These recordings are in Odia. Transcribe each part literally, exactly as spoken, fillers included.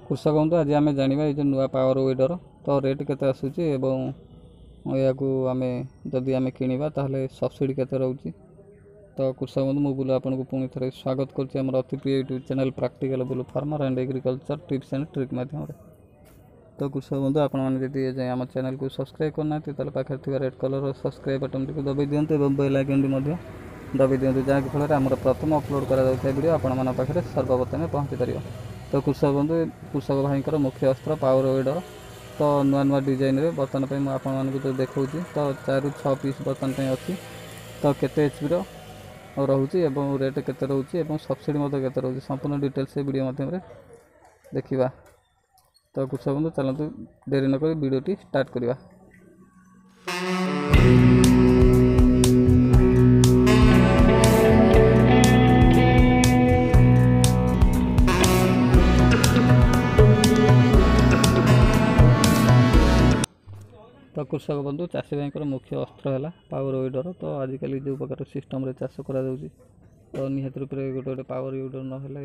କୃଷକ ବନ୍ଧୁ, ଆଜି ଆମେ ଜାଣିବା ଏଇ ଯେଉଁ ନୂଆ ପାୱାର ୱିଡ଼ର, ତ ରେଟ୍ କେତେ ଆସୁଛି ଏବଂ ଏହାକୁ ଆମେ ଯଦି ଆମେ କିଣିବା ତାହେଲେ ସବସିଡ଼ି କେତେ ରହୁଛି। ତ କୃଷକ ବନ୍ଧୁ, ମୁଁ ବୁଲୁ ଆପଣଙ୍କୁ ପୁଣି ଥରେ ସ୍ୱାଗତ କରୁଛି ଆମର ଅତି ପ୍ରିୟ YouTube channel practical Bulu farmer and agriculture tips and trick ମାଧ୍ୟମରେ। ତ କୃଷକ ବନ୍ଧୁ, ଆପଣମାନେ ଯଦି ଏଯାଏଁ ଆମ ଚ୍ୟାନେଲକୁ ସବସ୍କ୍ରାଇବ୍ କରିନାହାନ୍ତି, ତାହେଲେ ପାଖରେ ଥିବା ରେଡ୍ କଲର୍ର ସବସ୍କ୍ରାଇବ୍ ବଟନ୍ଟିକୁ ଦବାଇ ଦିଅନ୍ତୁ ଏବଂ ବେଲ୍ ଆଇକନ୍ଟି ମଧ୍ୟ ଦବାଇ ଦିଅନ୍ତୁ, ଯାହାକି ଫଳରେ ଆମର ପ୍ରଥମ ଅପଲୋଡ଼ କରାଯାଉଥିବା ଭିଡ଼ିଓ ଆପଣମାନଙ୍କ ପାଖରେ ସର୍ବପ୍ରଥମେ ପହଞ୍ଚି ପାରିବ। ତ କୃଷକ ବନ୍ଧୁ, କୃଷକ ଭାଇଙ୍କର ମୁଖ୍ୟ ଅସ୍ତ୍ର ପାୱାର ୱିଡ଼ର, ତ ନୂଆ ନୂଆ ଡିଜାଇନରେ ବର୍ତ୍ତମାନ ପାଇଁ ମୁଁ ଆପଣମାନଙ୍କୁ ଯେଉଁ ଦେଖାଉଛି, ତ ଚାରିରୁ ଛଅ ପିସ୍ ବର୍ତ୍ତମାନ ପାଇଁ ଅଛି। ତ କେତେ ଏଚ୍ ପିର ରହୁଛି ଏବଂ ରେଟ୍ କେତେ ରହୁଛି ଏବଂ ସବସିଡ଼ି ମଧ୍ୟ କେତେ ରହୁଛି, ସମ୍ପୂର୍ଣ୍ଣ ଡିଟେଲ୍ସ ଏ ଭିଡ଼ିଓ ମାଧ୍ୟମରେ ଦେଖିବା। ତ କୃଷକ ବନ୍ଧୁ, ଚାଲନ୍ତୁ ଡେରି ନକରି ଭିଡ଼ିଓଟି ଷ୍ଟାର୍ଟ କରିବା। ତ କୃଷକ ବନ୍ଧୁ, ଚାଷୀ ଭାଇଙ୍କର ମୁଖ୍ୟ ଅସ୍ତ୍ର ହେଲା ପାୱାର ୱିଡ଼ର। ତ ଆଜିକାଲି ଯେଉଁ ପ୍ରକାର ସିଷ୍ଟମ୍ରେ ଚାଷ କରାଯାଉଛି, ତ ନିହାତି ରୂପରେ ଗୋଟେ ଗୋଟେ ପାୱାର ୱିଡ଼ର ନହେଲେ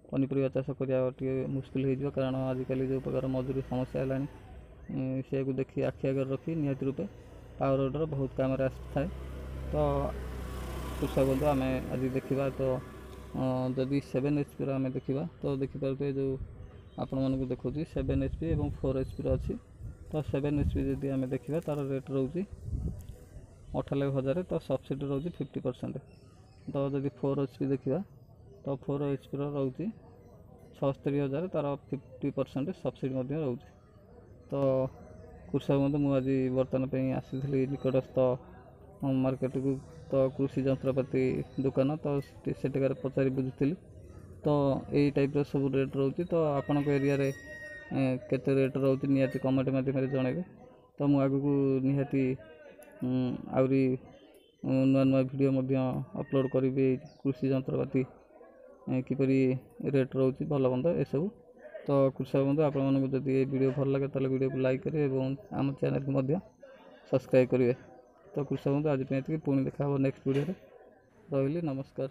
ପନିପରିବା ଚାଷ କରିବା ଟିକେ ମୁସ୍କିଲ ହେଇଯିବ। କାରଣ ଆଜିକାଲି ଯେଉଁ ପ୍ରକାର ମଜୁରୀ ସମସ୍ୟା ହେଲାଣି, ସେଇଆକୁ ଦେଖି ଆଖି ଆଗରେ ରଖି ନିହାତି ରୂପେ ପାୱାର ୱିଡ଼ର ବହୁତ କାମରେ ଆସିଥାଏ। ତ କୃଷକ ବନ୍ଧୁ, ଆମେ ଆଜି ଦେଖିବା, ତ ଯଦି ସେଭେନ୍ ଏଚ୍ ପିର ଆମେ ଦେଖିବା, ତ ଦେଖିପାରୁଥିବେ ଯେଉଁ ଆପଣମାନଙ୍କୁ ଦେଖାଉଛି, ସେଭେନ୍ ଏଚ୍ ପି ଏବଂ ଫୋର୍ ଏଚ୍ ପିର ଅଛି। ତ ସେଭେନ୍ ଏଚ୍ ପି ଯଦି ଆମେ ଦେଖିବା, ତା'ର ରେଟ୍ ରହୁଛି ଅଠାନବେ ହଜାର, ତ ସବସିଡ଼ି ରହୁଛି ଫିଫ୍ଟି ପରସେଣ୍ଟ। ତ ଯଦି ଫୋର୍ ଏଚ୍ ପି ଦେଖିବା, ତ ଫୋର୍ ଏଚ୍ ପିର ରହୁଛି ଛଅସ୍ତରୀ ହଜାର, ତା'ର ଫିଫ୍ଟି ପରସେଣ୍ଟ ସବସିଡ଼ି ମଧ୍ୟ ରହୁଛି। ତ କୃଷକ ବନ୍ଧୁ, ମୁଁ ଆଜି ବର୍ତ୍ତମାନ ପାଇଁ ଆସିଥିଲି ନିକଟସ୍ଥ ମାର୍କେଟକୁ, ତ କୃଷି ଯନ୍ତ୍ରପାତି ଦୋକାନ, ତ ସେଠିକାରେ ପଚାରି ବୁଝୁଥିଲି, ତ ଏଇ ଟାଇପ୍ର ସବୁ ରେଟ୍ ରହୁଛି। ତ ଆପଣଙ୍କ ଏରିଆରେ କେତେ ରେଟ୍ ରହୁଛି, ନିହାତି କମେଣ୍ଟ ମାଧ୍ୟମରେ ଜଣାଇବେ। ତ ମୁଁ ଆଗକୁ ନିହାତି ଆହୁରି ନୂଆ ନୂଆ ଭିଡ଼ିଓ ମଧ୍ୟ ଅପଲୋଡ଼ କରିବି, କୃଷି ଯନ୍ତ୍ରପାତି କିପରି ରେଟ୍ ରହୁଛି, ଭଲ ମନ୍ଦ ଏସବୁ। ତ କୃଷକ ବନ୍ଧୁ, ଆପଣମାନଙ୍କୁ ଯଦି ଏ ଭିଡ଼ିଓ ଭଲ ଲାଗେ, ତାହେଲେ ଭିଡ଼ିଓକୁ ଲାଇକ୍ କରିବେ ଏବଂ ଆମ ଚ୍ୟାନେଲକୁ ମଧ୍ୟ ସବସ୍କ୍ରାଇବ୍ କରିବେ। ତ କୃଷକ ବନ୍ଧୁ, ଆଜି ପାଇଁ ଏତିକି। ପୁଣି ଦେଖା ହେବ ନେକ୍ସଟ ଭିଡ଼ିଓରେ। ରହିଲି, ନମସ୍କାର।